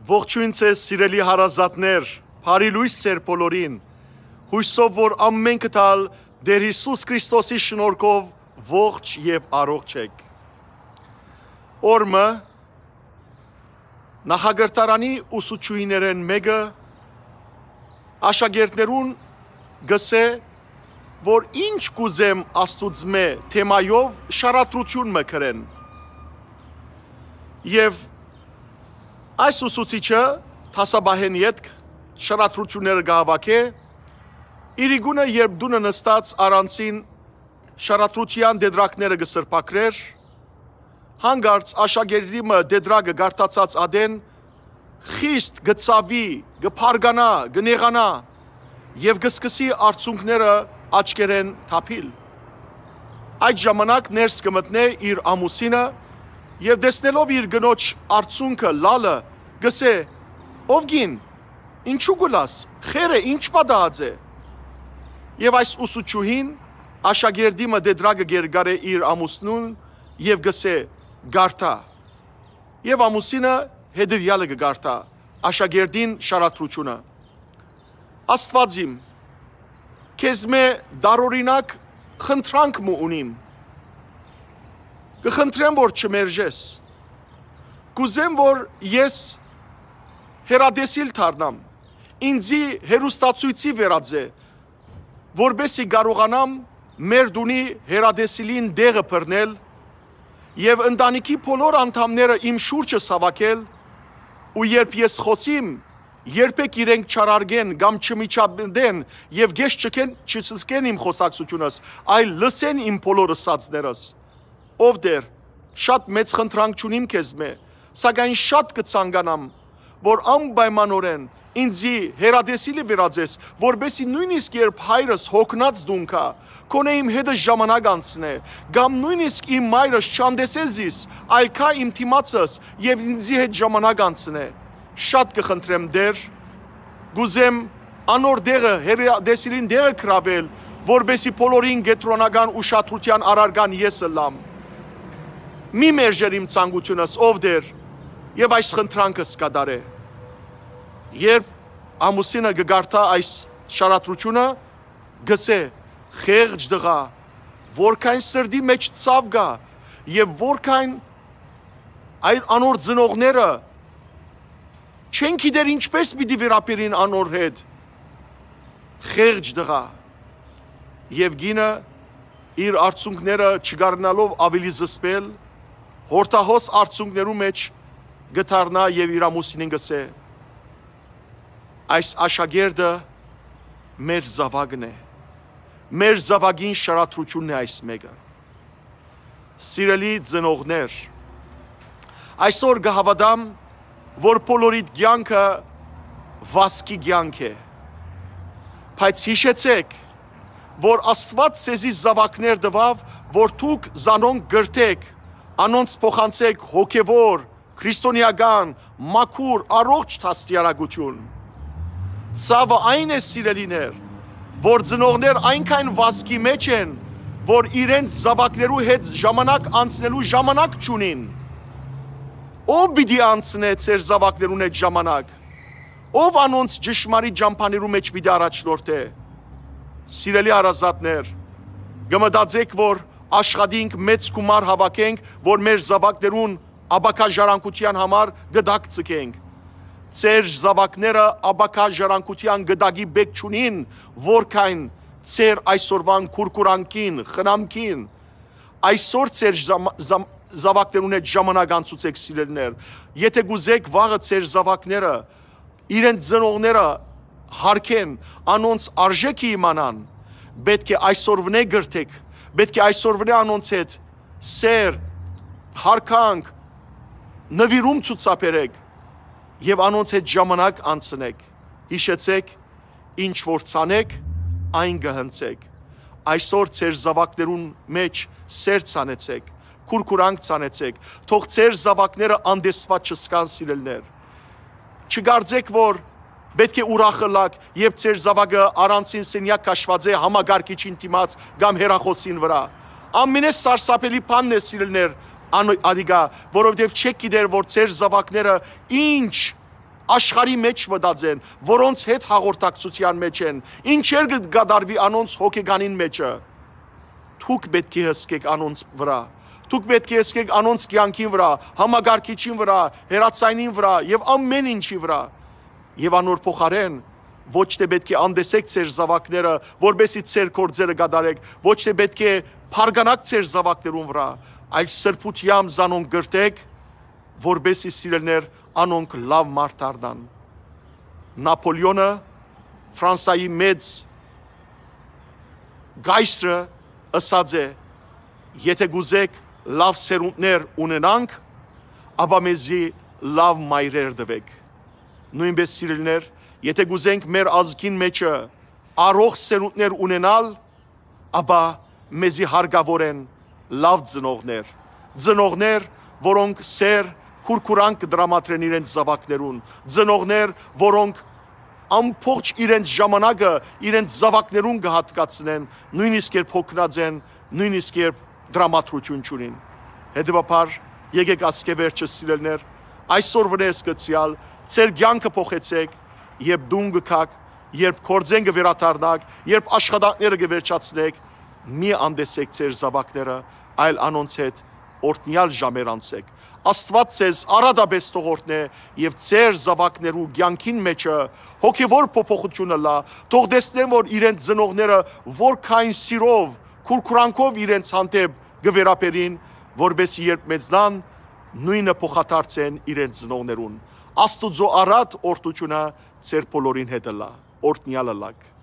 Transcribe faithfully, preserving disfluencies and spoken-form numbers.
Ողջոյն ձեզ, սիրելի հարազատներ, բարի լոյս ձեր բոլորին։ Յուսով որ ամէնքդ ալ Տէր Յիսուս Քրիստոսի շնորհքով ողջ եւ առողջ էք։ Օրը նախակրթարանի ուսուցչուհիներէն մէկը աշակերտներուն կ'ըսէ, որ ինչ կ'ուզեմ Աստուծմէ թեմայով շարադրութիւն մը գրեն։ Եւ այս ուսուցիչը դասապահէն ետք շարադրութիւնները կը հաւաքէ, իրիկունը երբ տունը նստած առանձին շարադրութեան տետրակները կը սրբագրէր, հանկարծ աշակերտի մը տետրակը կարդացած ատեն խիստ կը ցաւի, կը փառկանայ, կը նեղանայ եւ կը սկսի արցունքները աչքերէն թափիլ։ Այդ ժամանակ ներս կը մտնէ իր ամուսինը եւ տեսնելով իր կնոջ արցունքը լալը, կ'ըսէ. «Ով կին, ինչու կու լաս, խեր է, ինչ պատահած է»։ Եւ այս ուսուցչուհին աշակերտի մը տետրակը կ'երկարէ իր ամուսնուն եւ կ'ըսէ. «Կարդա»։ Եւ ամուսինը հետեւեալը կը կարդայ աշակերտին շարադրութիւնը։ «Աստուած իմ, քեզմէ տարօրինակ խնդրանք մը ունիմ։ Կը խնդրեմ որ չմերժես։ Կ'ուզեմ որ ես հեռատեսիլ դառնամ, ինծի հեռուստացոյցի վերածէ, որպէս զի կարողանամ մեր տունի հեռատեսիլին տեղը բռնել եւ ընտանիքի բոլոր անդամները իմ շուրջս հաւաքել, ու երբ ես խօսիմ, երբեք իրենք չարարկեն կամ չմիջամտեն եւ գէշ չկեն, չսսկեն իմ խօսակցութիւնս, այլ լսեն իմ բոլոր ըսածներս։ Ով Տէր, շատ մեծ խնդրանք չունիմ քեզմէ, սակայն շատ կը ցանկանամ որ անպայմանօրէն ինծի հեռատեսիլը վերածես, որպէս զի նոյնիսկ երբ հայրս յոգնած տուն գայ, գոնե իմ հետս ժամանակ անցնէ, կամ նոյնիսկ իմ մայրս չանտեսէ զիս, այլ գայ իմ դիմացս եւ ինծի հետ ժամանակ անցնէ։ Շատ կը խնդրեմ Տէր, կ'ուզեմ անոր տեղը, հեռատեսիլին տեղը գրաւել, որպէս զի բոլորին կեդրոնական ուշադրութեան առարկան ես ըլլամ։ Մի մերժեր իմ ցանկութիւնս, ով Տէր, եւ այս խնդրանքս կատարէ»։ Երբ ամուսինը կը կարդայ այս շարադրութիւնը, կ'ըսէ. «Խեղճ տղայ, որքան սրտի մէջ ցաւ կայ եւ որքան այլ անոր ծնողները չեն գիտեր ինչպէս պիտի վերաբերին անոր հետ։ Խեղճ տղայ»։ Եւ կինը իր արցունքները չկարենալով աւելի զսպել, յորդահոս արցունքներու մէջ կը դառնայ եւ իր ամուսինին կ'ըսէ. «Այս աշակերտը մեր զաւակն է, մեր զաւակին շարադրութիւնն է այս մէկը»։ Սիրելի ծնողներ, այսօր կը հաւատամ որ բոլորիդ կեանքը վազքի կեանք է, բայց յիշեցէք որ Աստուած ձեզի զաւակներ տուաւ, որ դուք զանոնք կրթէք, անոնց փոխանցէք հոգեւոր, քրիստոնեական, մաքուր, առողջ դաստիարակութիւն։ Ցաւը այն է, սիրելիներ, որ ծնողներ այնքան վազքի մէջ են, որ իրենց զաւակներու հետ ժամանակ անցնելու ժամանակ չունին։ Ո՞վ պիտի անցնէ ձեր զաւակներուն հետ ժամանակ, ո՞վ անոնց ճշմարիտ ճամբաներու մէջ պիտի առաջնորդէ։ Սիրելի հարազատներ, կը մտածէք որ աշխատինք, մեծ գումար հաւաքենք, որ մեր զաւակներուն ապագայ ժառանգութեան համար գտակ ձգենք։ Ձեր զաւակները ապագայ ժառանգութեան գտակի պէք չունին, որքան ձեր այսօրուան քուրքուրանքին, խնամքին։ Այսօր ձեր զամ- զամ- զաւակներուն հետ ժամանակ անցուցէք, սիրելիներ։ Եթէ կ'ուզէք վաղը ձեր զաւակները իրենց ծնողները յարգեն, անոնց արժէքը իմանան, պէտք է այսօրվնէ կրթեք, պէտք է այսօրվնէ անոնց հետ սէր, յարգանք, նուիրում ցուցաբերեք եւ անոնց հետ ժամանակ անցնեք։ Յիշեցէք, ինչ որ ցանեք, այն կը հնձեք։ Այսօր ձեր զաւակներուն մէջ սէր ցանեցէք, քուրքուրանք ցանեցէք, թող ձեր զաւակները անտեսուած չսկան, սիրելիներ։ Չկարծէք որ պէտք է ուրախ ըլլաք, երբ ձեր զաւակը առանձին սենեակ քաշուած է համակարգիչին դիմաց կամ հեռախօսին վրայ։ Ամենէ սարսափելի բանն է, սիրելիներ, ան- անիկա, որովհետեւ չեք գիտեր որ ձեր զաւակները ինչ աշխարհի մէջ մտած են, որոնց հետ հաղորդակցութեան մէջ են, ինչեր կը կատարուի անոնց հոգեկանին մէջը։ Դուք պէտք է հսկեք անոնց վրայ։ Դուք պէտք է հսկեք անոնց կեանքին վրայ, համակարգիչին վրայ, հեռացայնին վրայ եւ ամէն ինչի վրայ։ Եւ անոր փոխարէն ոչ թէ պէտք է անտեսեք ձեր զաւակները, որպէսզի ձեր գործերը կատարեք, ոչ թէ պէտք է փառկանաք ձեր զաւակներուն վրայ, այլ սրբութեամբ զանոնք կրթեք, որպէսզի սիրելիներ անոնք լաւ մարդ դառնան։ Նապոլեոնը, Ֆրանսայի մեծ կայսրը, ըսած է. «Եթէ կ'ուզեք լաւ սերունդներ ունենանք, ապա մեզի լաւ մայրեր տուէք»։ Նոյնպէս, սիրելիներ, եթէ կ'ուզենք մեր ազգին մէջը առողջ սերունդներ ունենալ, ապա մեզի հարկաւոր են լաւ ծնողներ, ծնողներ, որոնք սէր, քուրքուրանք կը տրամադրեն իրենց զաւակներուն, ծնողներ, որոնք ամբողջ իրենց ժամանակը իրենց զաւակներուն կը յատկացնեն, նոյնիսկ երբ յոգնած են, նոյնիսկ երբ տրամադրութիւն չունին։ Հետեւաբար, եկեք ասկէ վերջը, սիրելիներ, այսօր վնես գցեալ, ձեր կեանքը փոխեցեք, երբ տուն կը գաք, երբ գործէն կը վերադառնաք, երբ աշխատանքները կը վերջացնեք, մի անտեսեք ձեր զաւակները, այլ անոնց հետ օրհնեալ ժամեր անցեք։ Աստուած ձեզ առատապէս թող օրհնէ եւ ձեր զաւակներու կեանքին մէջը հոգեւոր փոփոխութիւն ըլլայ, թող տեսնեն, որ իրենց ծնողները որքան սիրով, քուրքուրանքով իրենց հանդէպ կը վերաբերին, որպէսզի երբ մեծնան, նոյնը փոխադարձեն իրենց ծնողներուն։ Աստուծոյ առատ օրհնութիւնը ձեր բոլորին հետ ըլլայ։ Օրհնեալ ըլլաք։